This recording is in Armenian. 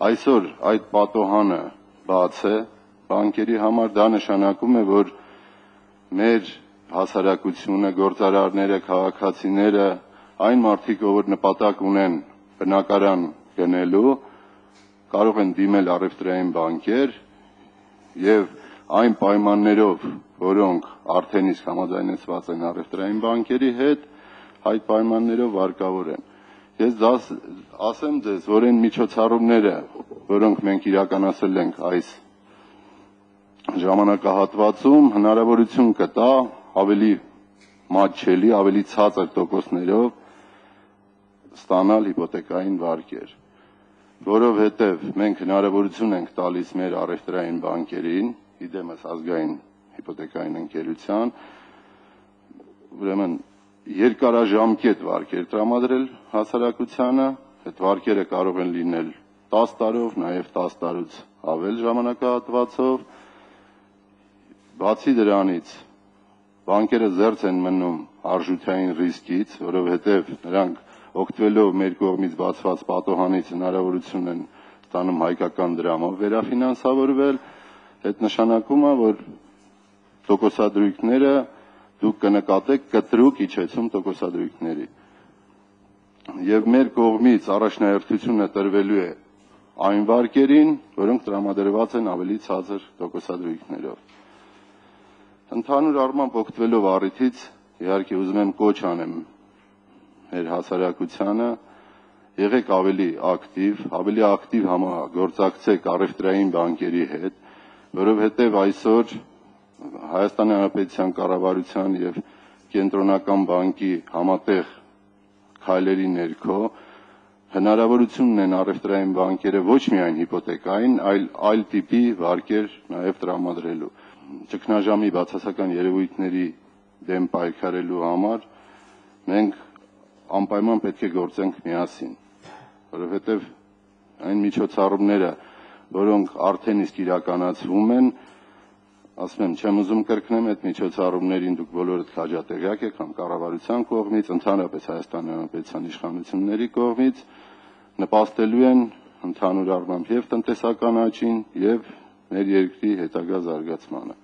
Այսօր այդ պատոհանը բաց է բանկերի համար, դա նշանակում է, որ մեր հասարակությունը, գործարարները, քաղաքացիները, այն մարդիկ, որ նպատակ ունեն բնակարան գնելու, կարող են դիմել առևտրային բանկեր եւ այն պայմաններով, որոնք արդեն իսկ համաձայնեցված են առևտրային բանկերի հետ, այդ պայմաններով վարկավոր են։ Ես ասեմ ձեզ, որ այն միջոցառումները, որոնք մենք իրականացրել ենք այս ժամանակահատվածում, հնարավորություն կտա ավելի մատչելի, ավելի ցածր տոկոսներով ստանալ հիպոթեկային վարկեր, որովհետև մենք հնարավորություն ենք տալիս մեր առևտրային բանկերին, իդեմս ազգային հիպոթեկային ընկերության, ուրեմն երկարաժամկետ վարկեր տրամադրել հասարակությանը, այդ վարկերը կարող են լինել 10 տարով, նաև 10 տարուց ավել ժամանակահատվածով, բացի դրանից բանկերը զերծ են մնում արժութային ռիսկից, որովհետև նրանք օգտվելով մեր կողմից բացված պատոհանից հնարավորություն են ստանում հայկական դրամով վերաֆինանսավորվել, այդ նշանակում է, որ տոկոսադրույքները դուք կնկատեք կտրուկ իջեցում տոկոսադրույքների։ Եվ մեր կողմից առաջնահերթությունը տրվելու է այն վարկերին, որոնք տրամադրված են ավելի ցածր տոկոսադրույքներով։ Ընդհանուր առմամբ օգտվելով առիթից, իհարկե ուզում եմ կոչ անեմ մեր հասարակությանը, եղեք ավելի ակտիվ համագործակցեք առևտրային բանկերի հետ, որովհետև այսօր Հայաստանի Հանրապետության կառավարության եւ Կենտրոնական բանկի համատեղ քայլերի ներքո հնարավորություն ունեն առևտրային բանկերը ոչ միայն հիպոթեկային, այլ տիպի վարկեր նաև տրամադրելու։ Ճգնաժամի բացասական երևույթների դեմ պայքարելու համար մենք անպայման պետք է գործենք միասին, որովհետև այն միջոցառումները, որոնք արդեն իսկ իրականացվում են, ասում եմ, չեմ ուզում կրկնեմ այդ միջոցառումներին դուք բոլորդ քաջատեղյակ եք համ կառավարության կողմից, ընդհանրապես Հայաստանի Հանրապետության իշխանությունների կողմից, նպաստելու են ընդհանուր առմամբ եւ տնտեսական աճին եւ մեր երկրի հետագա զարգացմանը։